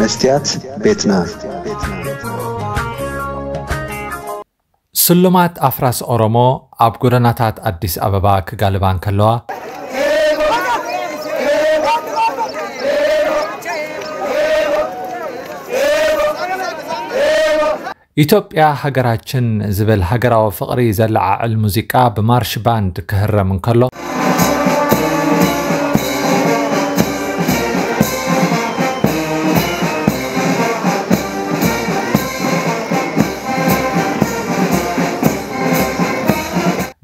መስትያት ቤትና። ስሉማት ኣፍራስ ኦሮሞ ኣብ ጎደናታት ኣዲስ ኣበባ ክጋልባ እንከለዋ፣ "ኢትዮጵያ ሃገራችን" ዝብል ሃገራዊ ፍቕሪ ዘለዓዕል ሙዚቃ ብማርሽ ባንድ ክህረም እንከሎ፣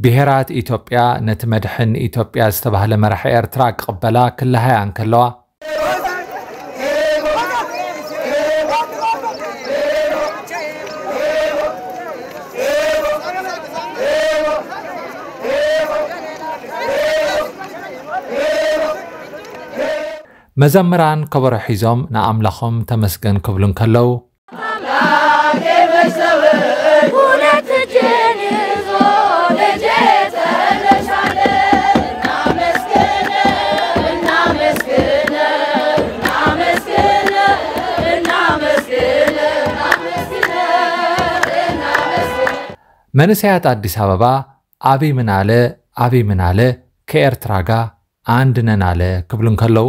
ብሄራት ኢትዮጵያ ነቲ መድሕን ኢትዮጵያ ዝተባህለ መራሒ ኤርትራ ክቕበላ ክለሃያ እንከለዋ፣ መዘምራን ከበሮ ሒዞም ንኣምላኾም ተመስገን ክብሉ እንከለዉ፣ መንእሰያት ኣዲስ ኣበባ "ኣቢ ምናለ፣ ኣቢ ምናለ፣ ከኤርትራ ጋ ኣንድ ነን ኣለ" ክብሉ እንከለዉ፣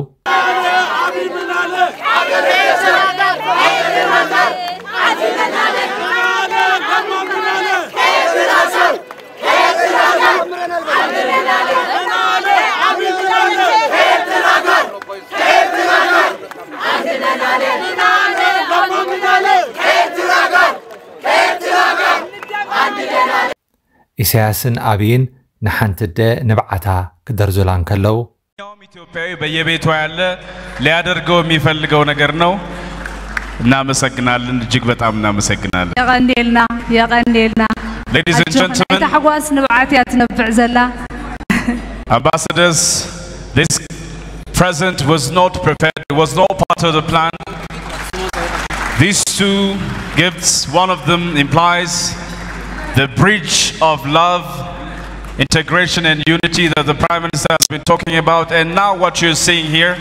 ኢሳያስን ኣብይን ንሓንቲ ኣደ ንብዓታ ክደርዙላ እንከለዉ፣ ማንኛውም ኢትዮጵያዊ በየቤቷ ያለ ሊያደርገው የሚፈልገው ነገር ነው። እናመሰግናለን፣ እጅግ በጣም እናመሰግናለን። የቐንዴልና፣ የቐንዴልና። Ladies and ኣጆኽን፣ gentlemen፣ ኣይታሕጓስ ንብዓት እያ ትነብዕ ዘላ። Ambassadors, this present was not prepared, it was not part of the plan. These two gifts, one of them implies the bridge of love, integration, and unity that the Prime Minister has been talking about. And now, what you're seeing here,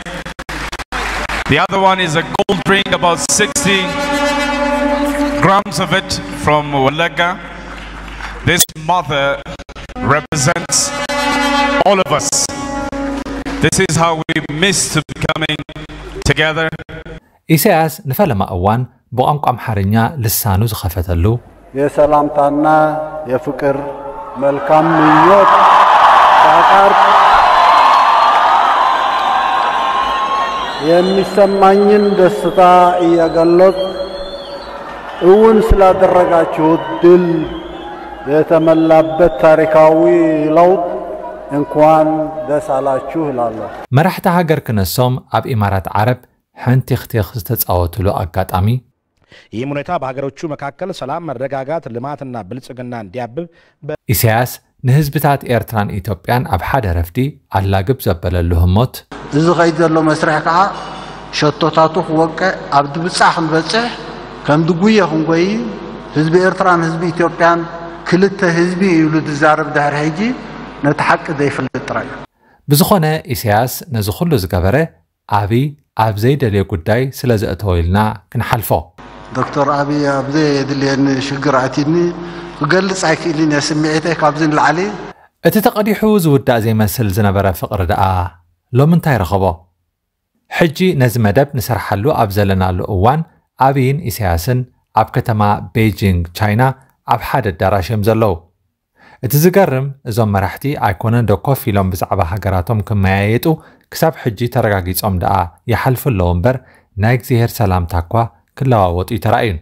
the other one is a gold ring, about sixty grams of it from Walaga. This mother represents all of us. This is how we miss to be coming together. ኢሳያስ ንፈለማ እዋን ብቋንቋ ኣምሓርኛ ልሳኑ ዝኸፈተሉ፣ የሰላምታና የፍቅር መልካም ምኞት ሳቃርብ የሚሰማኝን ደስታ እየገለጽ እውን ስላደረጋችሁት ድል የተመላበት ታሪካዊ ለውጥ እንኳን ደስ አላችሁ እላለሁ። መራሕቲ ሃገር ክነሶም ኣብ ኢማራት ዓረብ ሕንቲኽቲኽ ዝተጻወቱሉ ኣጋጣሚ፣ ይህም ሁኔታ በሀገሮቹ መካከል ሰላም፣ መረጋጋት፣ ልማትና ብልጽግና እንዲያብብ በ- ኢሳያስ ንህዝብታት ኤርትራን ኢትዮጵያን ኣብ ሓደ ረፍዲ ኣላግብ ዘበለሉ ህሞት፣ እዚ ኸይድ ዘሎ መስርሕ ከዓ ሸቶታቱ ክወቅዕ፣ ኣብ ድብጻ ክንበጽሕ፣ ከም ድጉየ ክንጎይ፣ ህዝቢ ኤርትራን ህዝቢ ኢትዮጵያን ክልተ ህዝቢ እዩ ኢሉ ዝዛረብ ድሕሪ ሕጂ ነቲ ሓቂ ዘይፈልጥ ጥራይ እዩ። ብዝኾነ ኢሳያስ ነዚ ኩሉ ዝገበረ ኣብይ ኣብ ዘይደልዮ ጉዳይ ስለ ዘእተዎ ኢልና ክንሓልፎ። ዶክተር ኣብይ ኣብ ዘየድልየኒ ሽግር ኣትዩኒ ክገልጽ ኣይክእልን እየ ስምዒተይ ካብዚ ንላዕሊ። እቲ ተቐዲሑ ዝውዳእ ዘይመስል ዝነበረ ፍቕሪ ደኣ ሎሚ እንታይ ረኸቦ? ሕጂ ነዚ መደብ ንሰርሓሉ ኣብ ዘለናሉ እዋን ኣብይን ኢሳያስን ኣብ ከተማ ቤጂንግ ቻይና ኣብ ሓደ ኣዳራሽ እዮም ዘለዉ። እቲ ዝገርም እዞም መራሕቲ ኣይኮነን ዶ ኮፍ ኢሎም ብዛዕባ ሃገራቶም ክመያየጡ ክሳብ ሕጂ ተረጋጊጾም ደኣ ይሓልፉ ኣለዉ እምበር ናይ እግዚኣብሔር ሰላምታ እኳ ክለዋወጡ ኣይተራእዩን።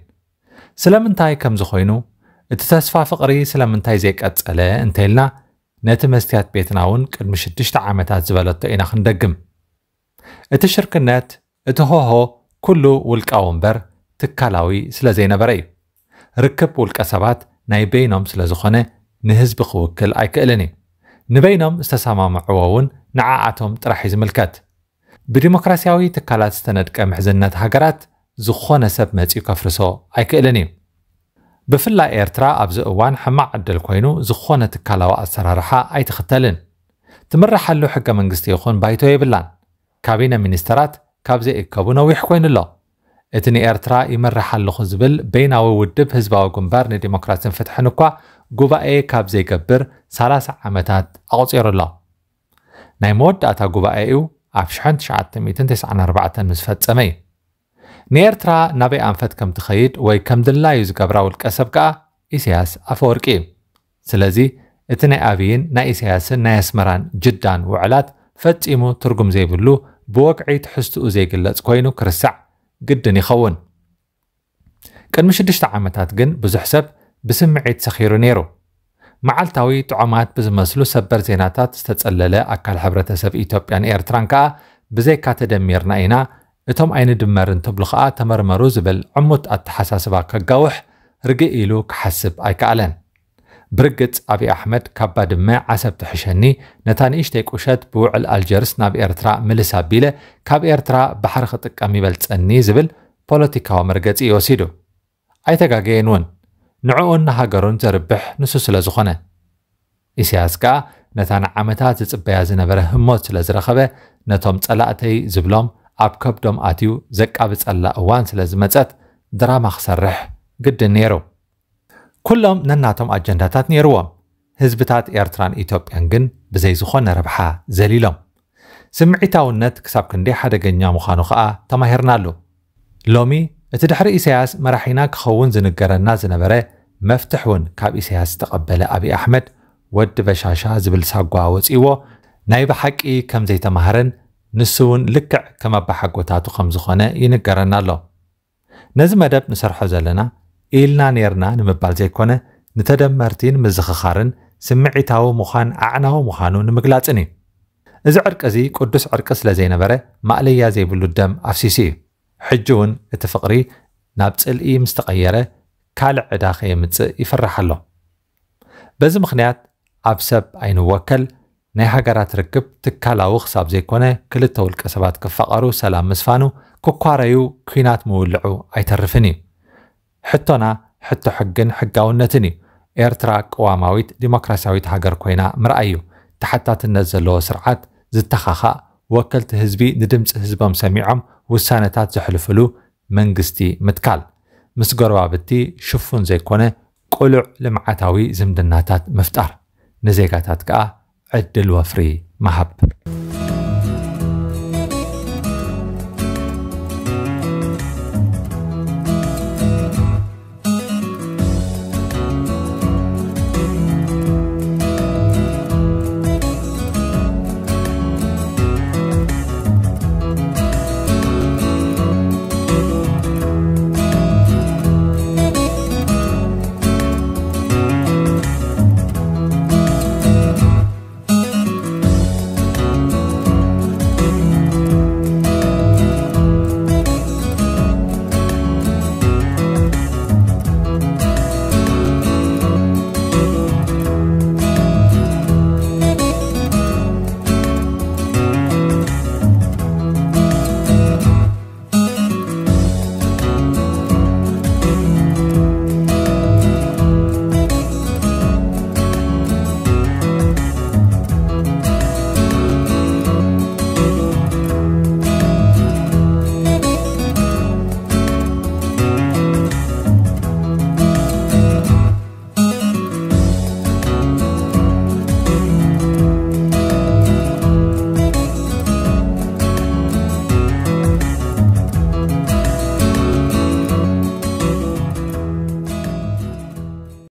ስለምንታይ ከምዚ ኮይኑ እቲ ተስፋ ፍቕሪ ስለምንታይ ዘይቀጸለ እንተኢልና ነቲ መስትያት ቤትና እውን ቅድሚ ሽዱሽተ ዓመታት ዝበለቶ ኢና ክንደግም። እቲ ሽርክነት፣ እቲ ሆሆ፣ ኩሉ ውልቃዊ እምበር ትካላዊ ስለ ዘይነበረ እዩ። ርክብ ውልቀ ሰባት ናይ በይኖም ስለ ዝኾነ ንህዝቢ ክውክል ኣይክእልን እዩ። ንበይኖም ዝተሰማምዕዎ እውን ንዓኣቶም ጥራሕ እዩ ዝምልከት። ብዲሞክራሲያዊ ትካላት ዝተነድቀ ምሕዝነት ሃገራት ዝኾነ ሰብ መጺኡ ከፍርሶ ኣይክእልን እዩ። ብፍላይ ኤርትራ ኣብዚ እዋን ሕማቕ ዕድል ኮይኑ ዝኾነ ትካላዊ ኣሰራርሓ ኣይትኽተልን። ትምርሓሉ ሕገ መንግስቲ ይኹን ባይቶ የብላን። ካቢነ ሚኒስተራት ካብ ዘይእከቡ ነዊሕ ኮይኑ ኣሎ። እቲ ንኤርትራ ይመርሕ ኣለኹ ዝብል በይናዊ ውድብ ህዝባዊ ግንባር ንዲሞክራስን ፍትሕን እኳ ጉባኤ ካብ ዘይገብር ሰላሳ ዓመታት ኣቑጺሩ ኣሎ። ናይ መወዳእታ ጉባኤኡ ኣብ ሽሕን ትሽዓተ ሚእትን ተስዓን ኣርባዕተን ምስ ፈጸመ እዩ። ንኤርትራ ናበይ ኣንፈት ከም ትኸይድ ወይ ከም ድላዩ ዝገብራ ውልቀ ሰብ ከኣ ኢሳያስ ኣፈወርቂ እዩ። ስለዚ እቲ ናይ ኣብይን ናይ ኢሳያስን ናይ ኣስመራን ጅዳን ውዕላት ፈጺሙ ትርጉም ዘይብሉ፣ ብወግዒ ትሕዝትኡ ዘይግለጽ ኮይኑ ክርስዕ ግድን ይኸውን። ቅድሚ ሽዱሽተ ዓመታት ግን ብዙሕ ሰብ ብስምዒት ሰኺሩ ነይሩ። መዓልታዊ ጥዑማት ብዝመስሉ ሰበር ዜናታት ዝተጸለለ ኣካል ሕብረተሰብ ኢትዮጵያን ኤርትራን ከኣ ብዘይካ ተደሚርና ኢና፣ እቶም ኣይንድመርን ትብሉ ከኣ ተመርመሩ ዝብል ዕሙት ኣተሓሳስባ ከጋውሕ ርግእ ኢሉ ክሓስብ ኣይከኣለን። ብርግጽ ኣብይ ኣሕመድ ካብ ባድመ ዓሰብ ትሕሸኒ፣ ነታ ንእሽተይ ቁሸት ብውዕል ኣልጀርስ ናብ ኤርትራ ምልስ ኣቢለ ካብ ኤርትራ ባሕሪ ክጥቀም ይበልጸኒ ዝብል ፖለቲካዊ መርገጺ እዩ ወሲዱ። ኣይተጋገየን እውን። ንዕኡን ንሃገሩን ዘርብሕ ንሱ ስለ ዝኾነ። ኢሳያስ ከኣ ነታ ንዓመታት ዝጽበያ ዝነበረ ህሞት ስለ ዝረኸበ፣ ነቶም ጸላእተይ ዝብሎም ኣብ ከብዶም ኣትዩ ዘቃብጸላ እዋን ስለ ዝመጸት ድራማ ክሰርሕ ግድን ነይሩ። ኩሎም ነናቶም ኣጀንዳታት ነይርዎም። ህዝብታት ኤርትራን ኢትዮጵያን ግን ብዘይ ዝኾነ ረብሓ ዘሊሎም። ስምዒታውነት ክሳብ ክንደይ ሓደገኛ ምዃኑ ከኣ ተማሂርናሉ። ሎሚ እቲ ድሕሪ ኢሳያስ መራሒና ክኸውን ዝንገረና ዝነበረ መፍትሕ እውን ካብ ኢሳያስ ዝተቐበለ ኣብይ ኣሕመድ ወዲ በሻሻ ዝብል ሳጓ ወጺዎ ናይ ብሓቂ ከም ዘይተማህረን ንሱ እውን ልክዕ ከም ኣባሓጎታቱ ከም ዝኾነ ይንገረና ኣሎ። ነዚ መደብ ንሰርሖ ዘለና ኢልና ኔርና ንምባል ዘይኮነ፣ ንተደመርቲ ንምዝኽኻርን ስምዒታዊ ምዃን ኣዕናዊ ምዃኑ ንምግላጽን እዩ። እዚ ዕርቂ እዚ ቅዱስ ዕርቂ ስለ ዘይነበረ ማእለያ ዘይብሉ ደም ኣፍሲሱ እዩ። ሕጂ እውን እቲ ፍቕሪ ናብ ጽልኢ ምስ ተቐየረ ካልእ ዕዳ ከየምጽእ ይፍራሕ ኣሎ። በዚ ምኽንያት ኣብ ሰብ ኣይንወከል፣ ናይ ሃገራት ርክብ ትካላዊ ክሳብ ዘይኮነ ክልተ ውልቀ ሰባት ክፋቐሩ ሰላም ምስፋኑ ክኳረዩ ኲናት ምውልዑ ኣይተርፍን እዩ። ሕቶና ሕቶ ሕግን ሕጋውነትን እዩ። ኤርትራ ቅዋማዊት ዲሞክራሲያዊት ሃገር ኮይና ምርኣይ እዩ። ተሓታትነት ዘለዎ ስርዓት ዝተኻኻእ ወከልቲ ህዝቢ ንድምፂ ህዝቦም ሰሚዖም ውሳነታት ዘሕልፍሉ መንግስቲ ምትካል፣ ምስ ጎረባብቲ ሽፉን ዘይኮነ ቅሉዕ ልምዓታዊ ዝምድናታት ምፍጣር፣ ንዜጋታት ከኣ ዕድል ወፍሪ ምሃብ።